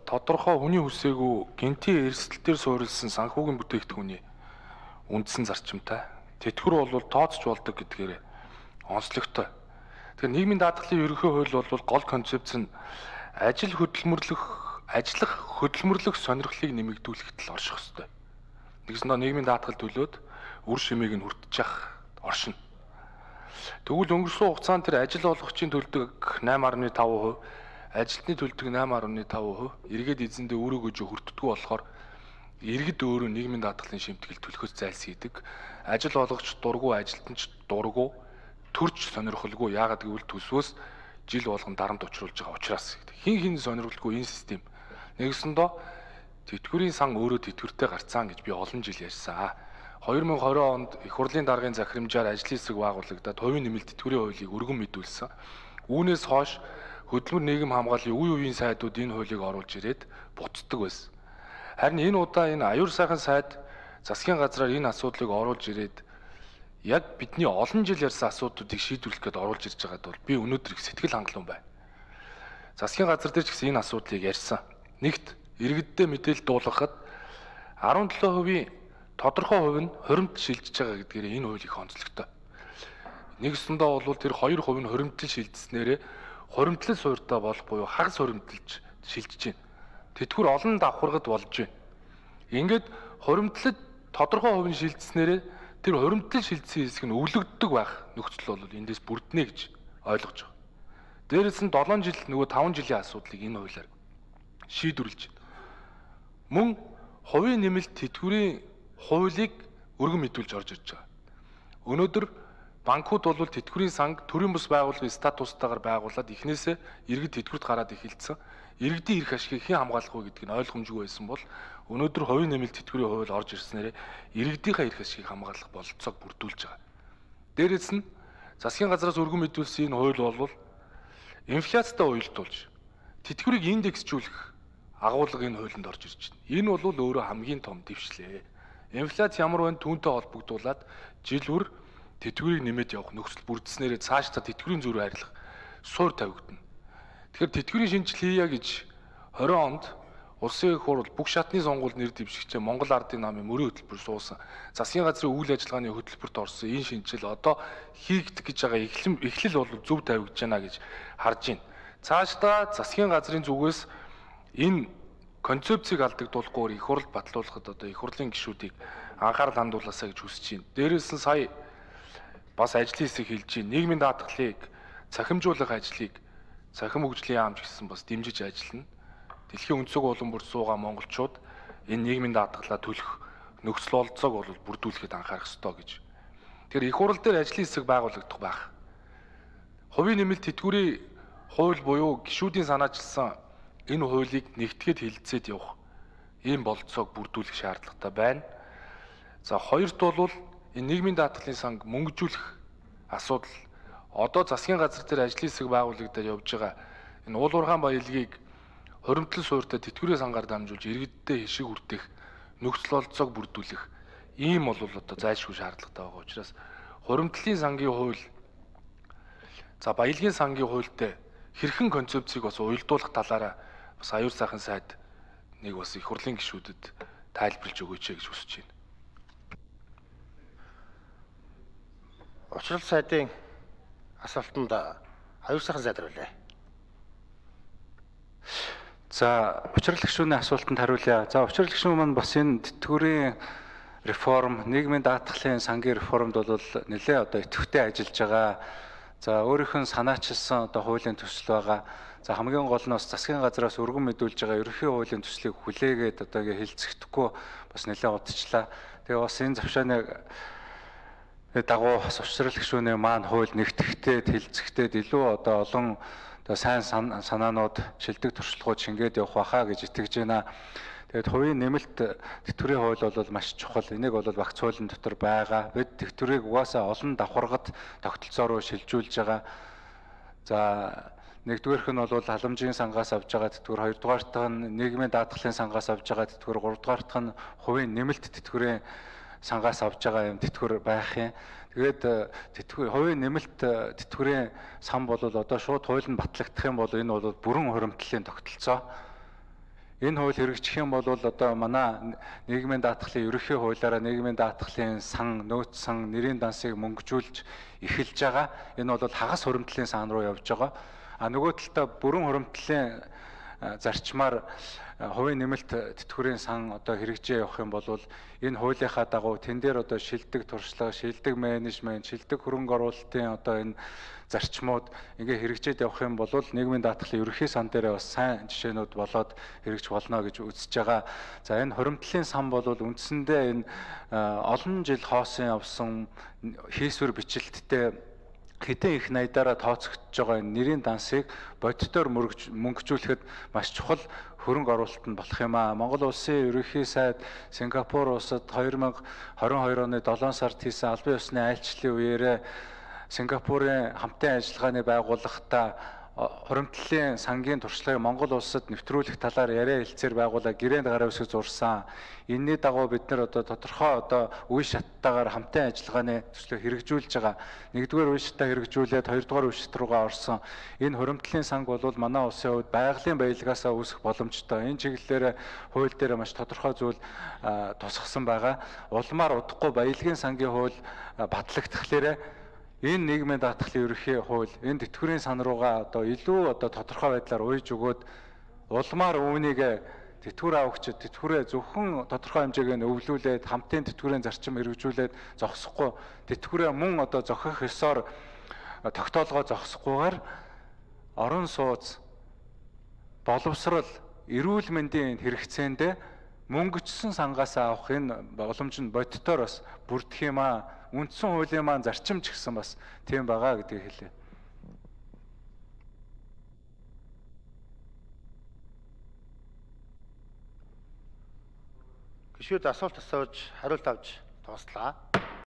тодорхой хүний хүсээгүй гинтийн эрсдэлтээр суурилсан санхүүгийн бүтээгдэхүүний үндсэн зарчимтай. Тэтгэвэр бол тооцож болдог гэдгээр онцлогтой. Тэгэхээр нийгмийн даатгалын ерөнхий хууль бол гол концепц нь ажиллах хөдөлмөрлөх сонирхлыг нэмэгдүүлэхэд л орших ёстой. Нэгснээр нийгмийн даатгал төлөөд үр шимийг нь хүртэж явах оршино. Тэгвэл өнгөрсөн хугацаанд тэр ажил олгогчийн төлдөг 8.5%, ажилтны төлдөг 8.5%, эргээд эзэндээ үүрэг өгж хүртдэггүй болохоор иргэд өөрөө нийгмийн даатгалын шимтгэл төлөхөөс зайлсхийдэг. Ажил олгогч дургу, ажилтнч дургу, төрч сонирхолгүй. Яагаад гэвэл төсвөөс жил болгон дарамт учруулж байгаа учраас. Хин сонирхолгүй энэ систем. Нэгсэндөө тэтгэврийн сан өөрөө тэтгэвртэй гарцсан гэж би олон жил ярьсан. 2020 онд их хурлын даргын захирамжаар ажлын хэсэг байгуулагдаад хувийн нэмэлт тэтгэврийн хуулийг өргөн мэдүүлсэн. Үүнээс хойш хөдөлмөр нийгэм хамгааллын үе үеийн сайдууд энэ хуулийг оруулж ирээд буцдаг байсан. Харин энэ удаа энэ аюур сайхан сайд засгийн газраар энэ асуудлыг оруулж ирээд яг бидний олон жил ярьсан асуудлуудыг шийдвэрлэх гээд оруулж ирж байгаад бол би өнөөдөр их сэтгэл хангалуун байна. Засгийн газар дээр ч гэсэн энэ асуудлыг ярьсан. Нэгт иргэддээ мэдээлэл дуулгахад 17% тодорхой хувь нь хуримтлал шилжиж байгаа гэдгээр энэ хууль их онцлогтой. Нэгсэндээ бол тэр 2% нь хуримтлал шилжснээрээ хуримтлал суурьтай болох буюу хагас хуримтлалж шилжиж байна. Тэтгэвэр олон давхаргад болж байна. Ингээд хуримтлал тодорхой хувь нь шилжснээрээ тэр хуримтлал шилжсэн хэсэг нь өвлөгддөг байх нөхцөл бол эндээс бүрднэ гэж ойлгож байгаа. Дээрээс нь 7 жил нөгөө 5 жилийн асуудлыг энэ хуулиар шийдвэрлэж байна. Мөн хувийн нэмэлт тэтгэврийн хуулийг өргөн мэдүүлж орж ирж байгаа. Өнөөдөр банкуд бол тэтгэврийн санг төрийн бус байгууллагын статустайгаар байгуулад эхнээсээ иргэд тэтгэврт гараад эхэлсэн. Иргэдийн эрх ашигыг хэн хамгаалах вэ гэдг нь ойлгомжгүй байсан бол өнөөдөр хувийн нэмэлт тэтгэврийн хууль орж ирснээр иргэдийнхээ эрх ашигыг хамгаалах бололцоог бүрдүүлж байгаа. Дээрээс нь засгийн газраас өргөн мэдүүлсэн энэ хууль бол инфляцтай уялдуулж тэтгэврийг индексжүүлэх агуулга энэ хуулинд орж ирж байна. Энэ бол өөрөө хамгийн том дэвшлээ. Инфляц ямар байна түүнтэй холбогдуулаад жил бүр тэтгэврийг нэмээд явах нөхцөл бүрдснээр цаашдаа тэтгэврийн зөрүү харилцах суур тавигдана. Тэгэхээр тэтгэврийн шинжил хийя гэж 20 онд улсын их хурл бүх шатны сонгуульд нэр дэвшигчээ Монгол Ардын намын мөрийн хөтөлбөр суусан. Засгийн газрын үйл ажиллагааны хөтөлбөрт орсон энэ шинжил одоо хийгдэх гэж байгаа эхлэл бол зөв тавигдж байна гэж харж байна. Цаашдаа засгийн газрын зүгээс энэ концепцийг алдагдуулахгүйгээр их хурл батлуулахад одоо их хурлын гишүүдийг анхаарал хандуулаасаа гэж хүсэж байна. Дээрээс нь сая бас ажлын хэсэг хэлж байна. Нийгмийн даатгалыг цахимжуулах ажлыг цахим хөгжлийн яамч гэсэн бас дэмжиж ажиллана. Дэлхийн өнцөг улам бүр суугаа монголчууд энэ нийгмийн даатгалаа төлөх нөхцөл олцоог бол бүрдүүлэхэд анхаарах ёстой гэж. Тэгэхээр их хурл дээр ажлын хэсэг байгуулагдах байх. Хувийн нэмэлт тэтгэврийн хууль буюу гишүүдийн санаачилсан энэ хуулийг нэгтгэхэд хилцээд явах ийм бололцоог бүрдүүлэх шаардлагатай байна. За хоёрт бол энэ нийгмийн даатгалын санг мөнгөжүүлэх асуудал одоо засгийн газар дээр ажлын хэсэг байгуулагдаад явж байгаа энэ уул уурхайн баялагийг хуримтлал суурьтай тэтгэврийн сангаар дамжуулж иргэддээ хишиг хүртэх нөхцөл олцоог бүрдүүлэх ийм бол одоо зайлшгүй шаардлагатай байгаа учраас хуримтлалын сангийн хууль за баялагын сангийн хуультай хэрхэн концепцийг бас уялдуулах талаараа бас аюур сайхан сайд нэг бас их хурлын гишүүдэд тайлбарлаж өгөөч гэж хүсэж байна. Учрал сайдын асуултанд аюур сайхан сайд хариулъя. За учрал гишүүний асуултанд хариулъя. За учрал гишүүн маань бас энэ тэтгэврийн реформ, нийгмийн даатгалын сангийн реформд бол нэлээ одоо идэвхтэй ажиллаж байгаа. За өөрийнх нь санаачилсан одоо хуулийн төсөл байгаа. За хамгийн гол нь бас засгийн газраас өргөн мэдүүлж байгаа ерөнхий хуулийн төслийг хүлээгээд одоо хэлцэхдэггүй бас нэлээд удажлаа. Тэгээ бас энэ завшааны дагуу бас учрал гишүүний маань хууль нэгтгэхтэй хэлцэхтэй илүү одоо олон одоо сайн санаанууд шилдэг туршлагууд шингээд явах байхаа гэж итгэж байна. Тэгээд хувийн нэмэлт тэтгэврийн хууль бол маш чухал. Энийг бол багц хуулийн дотор байгаа. Бид тэтгэврийг угаасаа олон давхаргад тогтолцоороо шилжүүлж байгаа. За нэгдүгээрх нь бол халамжийн сангаас авж байгаа тэтгэвэр, хоёрдугаарт нь нийгмийн даатгалын сангаас авж байгаа тэтгэвэр, гуравдугаарт нь хувийн нэмэлт тэтгэврийн сангаас авж байгаа юм тэтгэвэр байх юм. Тэгээд хувийн нэмэлт тэтгэврийн сан бол одоо шууд хууль нь батлагдах юм бол энэ бол бүрэн хуримтлалын тогтолцоо. Энэ хууль хэрэгжих юм бол одоо манай нийгмийн даатгалын ерөнхий хуулиараа нийгмийн даатгалын сан, нөөц сан, нэрийн дансыг мөнгөжүүлж эхэлж байгаа. Энэ бол хагас хуримтлалын сан руу явж байгаа. А нөгөө талдаа бүрэн хуримтлалын зарчмаар хувийн нэмэлт тэтгэврийн сан одоо хэрэгжээ явах юм бол энэ хуулийнхаа дагуу тэн дээр одоо шилдэг туршлага, шилдэг менежмент, шилдэг хөрөнгө оруулалтын одоо энэ зарчмууд ингээ хэрэгжээд явах юм бол нийгмийн даатгалын ерөнхий сан дээр бас сайн жишээнүүд болоод хэрэгжих болно гэж үзэж байгаа. За энэ хуримтлалын сан бол үндсэндээ энэ олон жил хоосон явсан хийсвэр бичлэлттэй хэдэн их найдаараа тооцогдож байгаа энэ нэрийн дансыг бодитоор мөнгөжүүлэхэд маш чухал хөрөнгө оруулалт нь болох юм аа. Монгол улсын ерөнхий сайд Сингапур улсад 2022 оны 7 сард хийсэн албан ёсны айлчлалын үеэрээ Сингапурын хамтын ажиллагааны байгууллагатай хуримтлалын сангийн туршлагыг Монгол улсад нэвтрүүлэх талаар яриа хэлцээр байгуулаад гэрээнд гараа үсэг зурсан. Энэний дагуу бид нар одоо тодорхой одоо үе шаттайгаар хамтын ажиллагааны төслийг хэрэгжүүлж байгаа. Нэгдүгээр үе шатаа хэрэгжүүлээд хоёрдугаар үе шат руугаа орсон. Энэ хуримтлалын санг бол манай улсын хувьд байгалийн баялгаасаа үүсэх боломжтой. Энэ чиглэлээр хууль дээр маш тодорхой зүйл тусгасан байгаа. Улмаар удахгүй баялагын сангийн хууль батлагдахлаарэ энэ нийгмийн даатгалын ерөнхий хууль энэ тэтгэврийн сан руугаа одоо илүү одоо тодорхой байдлаар уйж өгөөд улмаар үүнийг тэтгэвэр авагчид тэтгэврээ зөвхөн тодорхой хэмжээгээр өвлүүлээд хамтын тэтгэврийн зарчим хэрэгжүүлээд зогсохгүй тэтгэврээ мөн одоо зохих ёсоор тогтоолгоо зогсохгүйгээр орон сууц боловсрал эрүүл мэндийн хэрэгцээндээ мөнгөчсөн сангаас авах энэ боломж нь бодитоор бас бүрдэх юм аа. Үндсэн хуулийн маань зарчим ч гэсэн бас тийм байгаа гэдгийг хэлээ. Гишүүд асуулт асууж хариулт авч тоослаа.